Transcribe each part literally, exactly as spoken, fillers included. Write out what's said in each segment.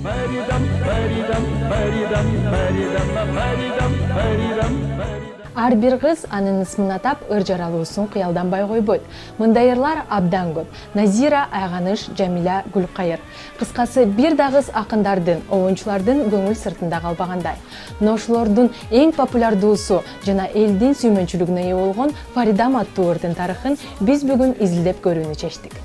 Фаридам, Фаридам, Фаридам, Фаридам, Фаридам, Фаридам. Ар бир кыз анын ысмын атап ыр жаралуусун кыялданбай койбойт. Мындай ырлар абдан көп. Назира, Айганыш, Жамиля, Гүлкайыр. Кыскасы бир да кыз акындардын, оюнчулардын көңүл сыртында калбагандай. Мына ошолордун эң популярдуусу жана элдин сүймөнчүлүгүнө ээ болгон Фаридам аттуу ырдын тарыхын биз бүгүн изилдеп көрүүнү чечтик.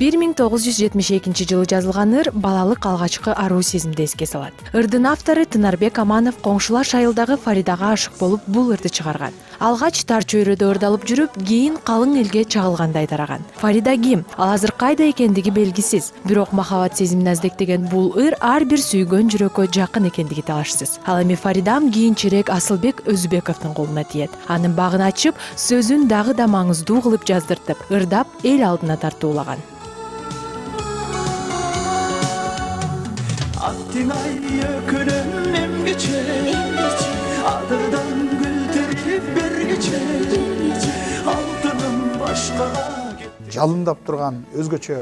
бир миң тогуз жүз жетимиш экинчи жылы жазылган ыр балалык алгачкы аруу сезимди эске салат. Ырдын автору Тынарбек Аманов коңшулаш айылдагы Фаридага ашык болуп бул ырды чыгарган. Алгач тар чөйрөдө ырдалып жүрүп, кийин калың элге чагылгандай тараган. Фарида ким? Ал азыр кайда экендиги белгисиз. Бирок махабат сезимин аздектеген бул ыр ар бир сүйгөн жүрөккө жакын экендиги талашсыз. Ал эми Фаридам кийинчерээк Асылбек Өзбековдун колуна тиет. Анын багын ачып, сөзүн дагы да маңыздуу кылып жаздыртып, ырдап эл алдына тартуулаган. Attınay ökünüm emgiçe, adırdan gülterip bergiçe, altınım başka. Жалындап турган өзгөчө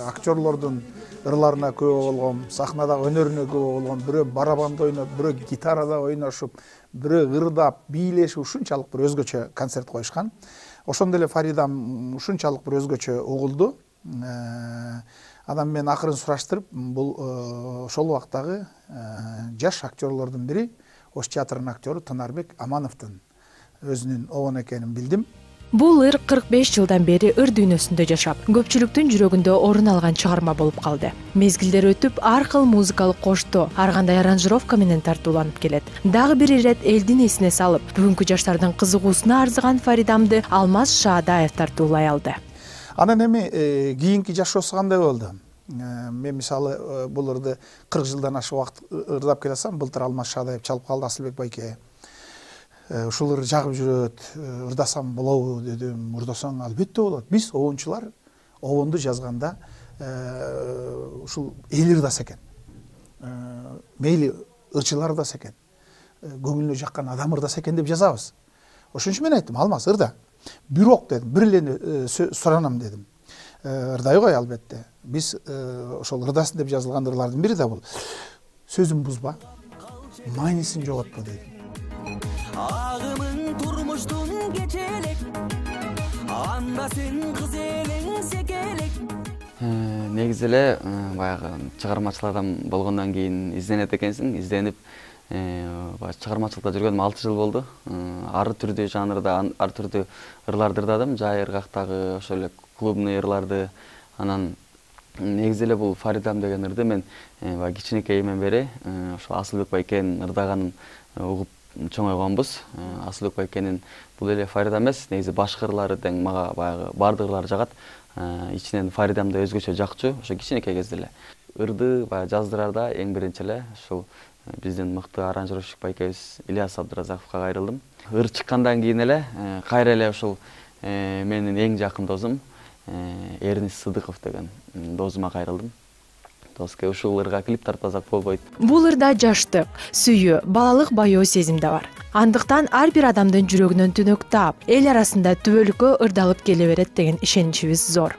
актерлордун ырларына күбө болгон, сахнада өнөрүнө күбө болгон, бирөө барабанда ойноп, бирөө гитарада ойношуп, бирөө ырдап, бийлешип ушунчалык бир өзгөчө концерт коюшкан. Ошондой эле Фаридам ушунчалык бир өзгөчө угулду. Адам мен акырын сураштырып, бул ошол убактагы жаш актерлордун бири, Ош театрынын актеру Тынарбек Амановдун өзүнүн обон экенин билдим. Бул ыр кырк беш жылдан бери ыр дүйнөсүндө жашап, көпчүлүктүн жүрөгүндө орун алган чыгарма болуп калды. Мезгилдер өтүп, ар кыл музыкалык коштоо, ар кандай аранжировка менен тартууланып келет. Дагы бир ирет элдин эсине салып, бүгүнкү жаштардын кызыгуусуна арзыган Фаридамды Алмаз Шаадаев тартуулай алды. Анан эми кийинки жашоосу кандай болду? Мен мисалы бул ырды кырк жылдан ашык убакыт ырдап келатсам, былтыр Алмаз Шаадаев чалып калды, Асылбек байке. Ушул ыр жагып жүрөт, ырдасам болобу дедим. Ырдасаң албетте болот. Биз оюнчулар обонду жазганда ушул эл ырдаса экен. Мейли ырчылар ырдаса экен. Көңүлүнө жаккан адам ырдаса экен деп жазабыз. Ошон үчүн мен айттым, Алмаз ырда. Бирок дедим, бир эле суранам дедим. Ырдай кой албетте. Биз ошол ырдасын деп жазылган ырлардын бири да бул. Сөзүн бузба, маанисин жоготпо дедим. Агымың турмуштун кечелек, анда сен кыз элең секелек. Негизи эле баягы чыгармачылардан болгондон кийин изденет экенсиң, изденип чыгармачылыкта жүргөнүм алты жыл болду. Ар түрдүү жанрда, ар түрдүү ырларды ырдадым, жай ыргактагы, ошол эле клубный ырларды. Анан негизи эле бул Фаридам деген ырды мен баягы кичинекейимден бери ошо Асылбек байкенин ырдаганын угуп чоңойгонбуз. Асылбек байкенин бул эле Фаридам эмес, негизи башка ырлары тең мага баягы бардык ырлар жагат. Ичинен Фаридам да өзгөчө жакчу, ошо кичинекей кезде эле. Ырды баягы жаздырарда эң биринчи эле ушул биздин мыкты аранжировщик байкебиз Ильяс Абдыразаковго кайрылдым. Ыр чыккандан кийин эле кайра эле ушул менин эң жакын досум Эрнис Сыдыков деген досума кайрылдым. Доске ушул ырга клип тартпасак болбойт. Бул ырда жаштык, сүйүү, балалык баяоо сезим да бар. Андыктан ар бир адамдын жүрөгүнөн түнөк таап, эл арасында түбөлүккө ырдалып келе берет деген ишеничибиз зор.